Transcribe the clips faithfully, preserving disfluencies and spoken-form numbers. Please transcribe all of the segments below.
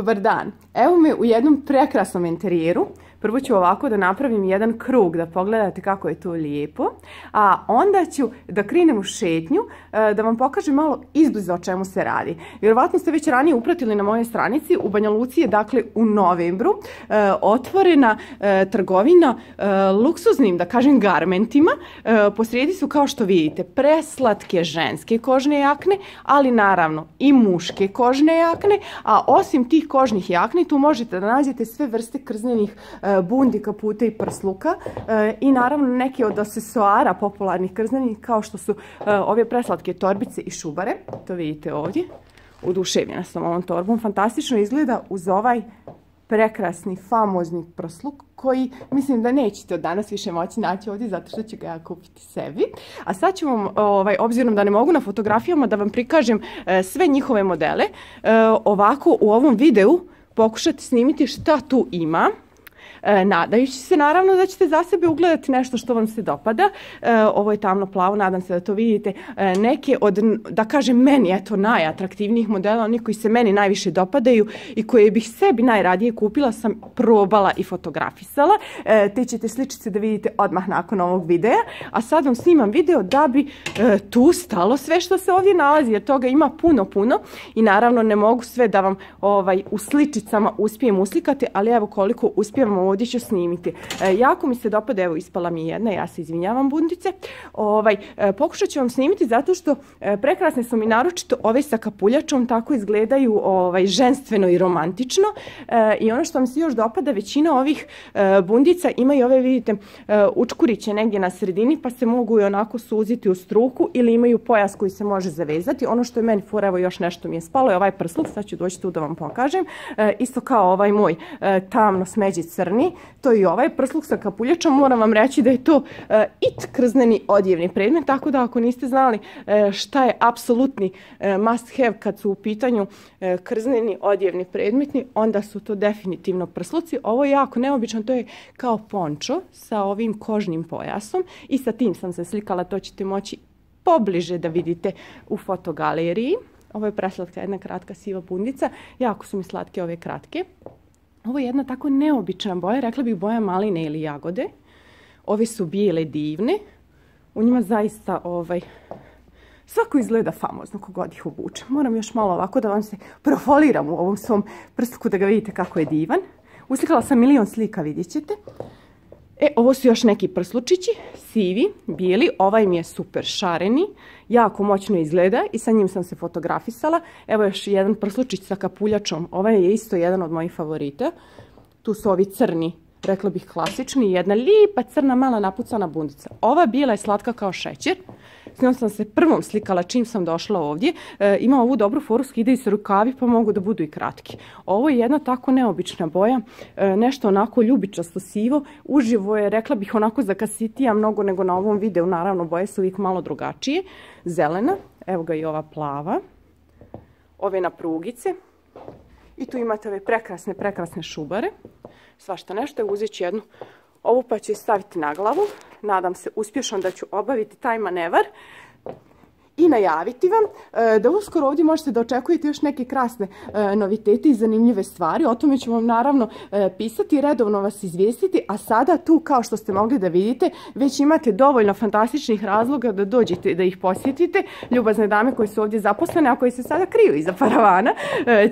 Dobar dan, evo me u jednom prekrasnom interijeru. Prvo ću ovako da napravim jedan krug da pogledate kako je to lijepo, a onda ću da krenem u šetnju da vam pokažem malo izbliza o čemu se radi. Vjerovatno ste već ranije upratili na mojoj stranici, u Banja Luci je dakle u novembru otvorena trgovina luksuznim, da kažem, garmentima. Posrijedi su, kao što vidite, preslatke ženske kožne jakne, ali naravno i muške kožne jakne, a osim tih kožnih jakni tu možete da nađete sve vrste krznenih bundi, kaputa i prsluka i naravno neke od aksesuara popularnih krznenih kao što su ove preslatke torbice i šubare. To vidite ovdje. Oduševljena sam ovom torbom. Fantastično izgleda uz ovaj prekrasni, famozni prsluk koji mislim da nećete od danas više moći naći ovdje zato što ću ga ja kupiti sebi. A sad ću vam, ovaj, obzirom da ne mogu na fotografijama, da vam prikažem e, sve njihove modele. E, ovako u ovom videu pokušati snimiti šta tu ima. E, nadajući se naravno da ćete za sebe ugledati nešto što vam se dopada. E, ovo je tamno plavo, nadam se da to vidite. E, neke od, da kažem, meni eto najatraktivnijih modela, oni koji se meni najviše dopadaju i koje bih sebi najradije kupila, sam probala i fotografisala. E, te ćete sličice da vidite odmah nakon ovog videa. A sad vam snimam video da bi e, tu stalo sve što se ovdje nalazi, jer toga ima puno, puno. I naravno ne mogu sve da vam ovaj, u sličicama uspijem uslikati, ali evo koliko uspijevamo ovdje ću snimiti. E, jako mi se dopada, evo ispala mi jedna, ja se izvinjavam bundice. Ovaj, e, pokušat ću vam snimiti zato što e, prekrasne su mi naročito ove sa kapuljačom, tako izgledaju ovaj, ženstveno i romantično. E, I ono što mi se još dopada, većina ovih e, bundica imaju ove, vidite, e, učkuriće negdje na sredini, pa se mogu i onako suziti u struku ili imaju pojas koji se može zavezati. Ono što je meni fora, evo još nešto mi je spalo, je ovaj prsluk, sad ću doći tu da vam pokažem. E, isto kao ovaj moj e, tamno smeđi crni. To je i ovaj prsluk sa kapuljačom. Moram vam reći da je to uh, it krzneni odjevni predmet, tako da ako niste znali uh, šta je apsolutni uh, must have kad su u pitanju uh, krzneni odjevni predmeti, onda su to definitivno prsluci. Ovo je jako neobično, to je kao pončo sa ovim kožnim pojasom i sa tim sam se slikala, to ćete moći pobliže da vidite u fotogaleriji. Ovo je preslatka jedna kratka siva bundica, jako su mi slatke ove kratke. Ovo je jedna tako neobična boja, rekla bih boja maline ili jagode. Ove su bijele divne. U njima zaista ovaj, svako izgleda famozno kogod ih obuče. Moram još malo ovako da vam se profoliram u ovom svom prstku da ga vidite kako je divan. Uslikala sam milion slika, vidjet ćete. E, ovo su još neki prslučići, sivi, bijeli, ovaj mi je super šareni, jako moćno izgleda i sa njim sam se fotografisala. Evo još jedan prslučić sa kapuljačom, ovaj je isto jedan od mojih favorita. Tu su ovi crni, rekla bih klasični, i jedna lijepa crna mala napucana bundica. Ova bijela je slatka kao šećer. S njom sam se prvom slikala čim sam došla ovdje. E, ima ovu dobru foru, skidaju se rukavi pa mogu da budu i kratki. Ovo je jedna tako neobična boja, e, nešto onako ljubičasto sivo. Uživo je, rekla bih, onako zakasitija mnogo nego na ovom videu. Naravno, boje su uvijek malo drugačije. Zelena, evo ga i ova plava. Ove na prugice. I tu imate ove prekrasne, prekrasne šubare. Svašta nešto, uzet ću jednu ovu pa ću je staviti na glavu. Nadam se uspješno da ću obaviti taj manevar i najaviti vam da uskoro ovdje možete da očekujete još neke krasne novitete i zanimljive stvari. O tome ću vam naravno pisati i redovno vas izvijestiti, a sada tu, kao što ste mogli da vidite, već imate dovoljno fantastičnih razloga da dođete da ih posjetite. Ljubazne dame koje su ovdje zaposlene, a koje se sada kriju iza paravana,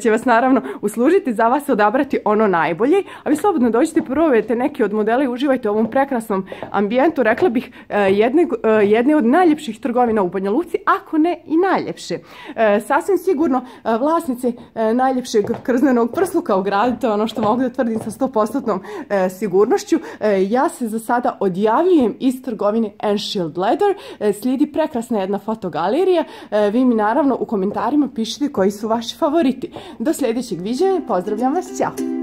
će vas naravno uslužiti, za vas odabrati ono najbolje, a vi slobodno dođete, probajte neke od modela i uživajte u ovom prekrasnom ambijentu, rekla bih jedne, jedne od najljepših trgovina u Banja Luci, ako ne i najljepše. E, sasvim sigurno e, vlasnice e, najljepšeg krznenog prsluka u gradu, to je ono što mogu da tvrdim sa sto posto e, sigurnošću. E, ja se za sada odjavljujem iz trgovine Enshield Leather. E, slijedi prekrasna jedna fotogalerija. E, vi mi naravno u komentarima pišite koji su vaši favoriti. Do sljedećeg viđenja, pozdravljam vas, ćao!